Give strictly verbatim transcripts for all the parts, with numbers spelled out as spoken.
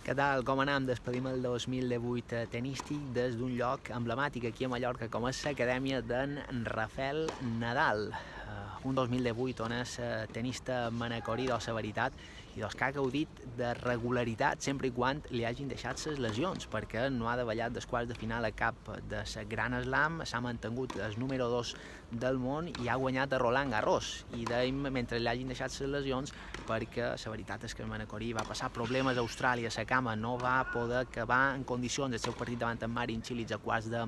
Què tal? Com anem? Despedim el dos mil divuit tenístic des d'un lloc emblemàtic aquí a Mallorca com és l'acadèmia d'en Rafael Nadal. Uh, un dos mil divuit on és tenista manacorí de la veritat i doncs que ha gaudit de regularitat sempre i quan li hagin deixat les lesions, perquè no ha davallat dels quarts de final a cap de la Gran Slam, s'ha mantingut el número dos del món i ha guanyat a Roland Garros. I dèiem mentre li hagin deixat les lesions perquè la veritat és que el manacorí va passar problemes a Austràlia, la cama no va poder acabar en condicions el seu partit davant en Marin Cilic a quarts de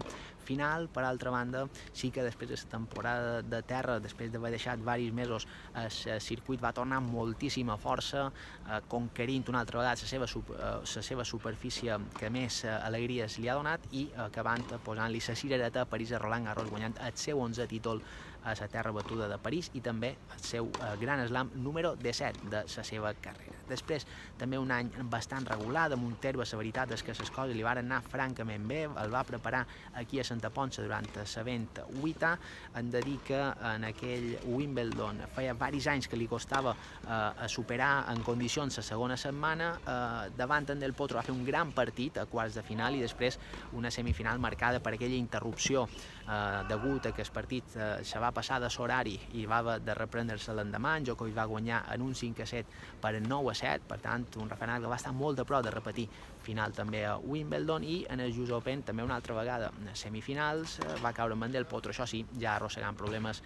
final. Per altra banda, sí que després de la temporada de terra, després d'haver deixat diversos mesos, el circuit va tornar amb moltíssima força, eh, conquerint una altra vegada la seva, eh, la seva superfície que més eh, alegries li ha donat i acabant posant-li la cirereta a París a Roland Garros, guanyant el seu onzè títol a la terra batuda de París i també el seu eh, Gran Slam número disset de la seva carrera. Després, també un any bastant regular de Montero, la veritat és que les coses li van anar francament bé, el va preparar aquí a Santa Ponça durant l'event vuità. Hem de dir que en aquell Wimbledon feia diversos anys que li costava eh, superar en condicions la segona setmana, eh, davant en Del Potro va fer un gran partit a quarts de final i després una semifinal marcada per aquella interrupció eh, degut a que el partit eh, se va passar de l'horari i va haver de reprendre-se l'endemà. En Djokovic va guanyar en un cinc a set per nou a set, per tant un Rafael Nadal que va estar molt a prop de repetir final també a Wimbledon, i en el U S Open també una altra vegada a semifinals va caure amb en Del Potro, això sí, ja arrossegant problemes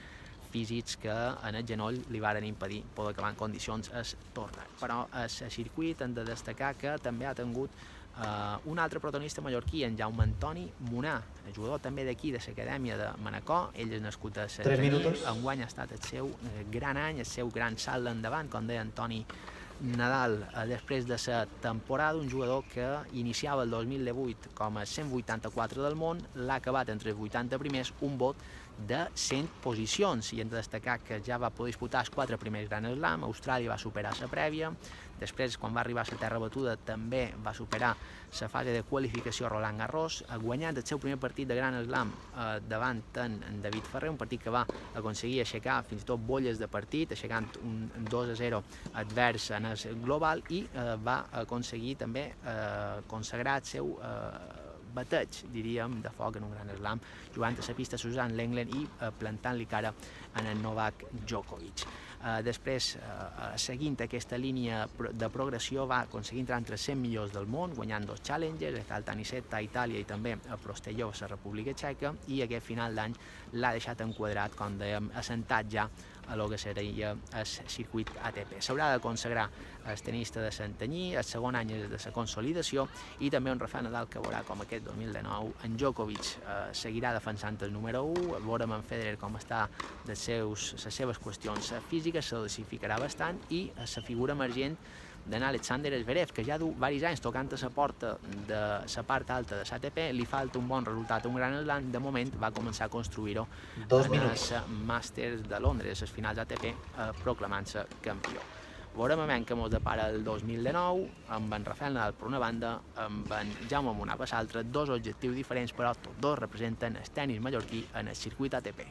físics que en el genoll li varen impedir poder acabar en condicions el torneig. Però el circuit hem de destacar que també ha tingut Uh, un altre protagonista mallorquí, en Jaume Antoni Munar, el jugador també d'aquí, de l'acadèmia de Manacor. Ell és nascut a Santanyí, enguany ha estat el seu eh, gran any, el seu gran salt endavant, com deia Antoni Nadal, eh, després de la temporada, un jugador que iniciava el dos mil divuit com a cent vuitanta-quatre del món, l'ha acabat entre els vuitanta primers, un vot de cent posicions, i hem de destacar que ja va poder disputar els quatre primers Gran Slam. Austràlia va superar la prèvia, després quan va arribar a la terra batuda també va superar la fase de qualificació a Roland Garros, guanyant el seu primer partit de Gran Slam eh, davant en David Ferrer, un partit que va aconseguir aixecar fins i tot bolles de partit, aixecant un dos a zero advers en el global, i eh, va aconseguir també eh, consagrar el seu eh, bateig, diríem, de foc en un Gran Slam, jugant a la pista Suzanne Lenglen i eh, plantant-li cara en el Novak Djokovic. Uh, després, uh, seguint aquesta línia de progressió, va aconseguir entrar entre els cent millors del món, guanyant dos Challengers, el Tanisetta a Itàlia i també a Prostelov a la República Txeca, i aquest final d'any l'ha deixat enquadrat, com dèiem, assentat ja a lo que seria el circuit A T P. S'haurà de consagrar el tenista de Santanyí, el segon any és de la consolidació, i també un Rafael Nadal que veurà com aquest dos mil dinou en Djokovic eh, seguirà defensant el número u, veurem en Federer com està de seus, les seves qüestions físiques, se dosificarà bastant, i la figura emergent d'en Alexander Zverev, que ja du diversos anys tocant a la porta de la part alta de l'A T P, li falta un bon resultat, un Gran Slam, de moment va començar a construir-ho en el Màsters de Londres, les finals A T P, eh, proclamant-se campió. Veurem a què ens depara el dos mil dinou, amb en Rafael Nadal per una banda, amb en Jaume Munar per l'altra, dos objectius diferents, però tots dos representen el tenis mallorquí en el circuit A T P.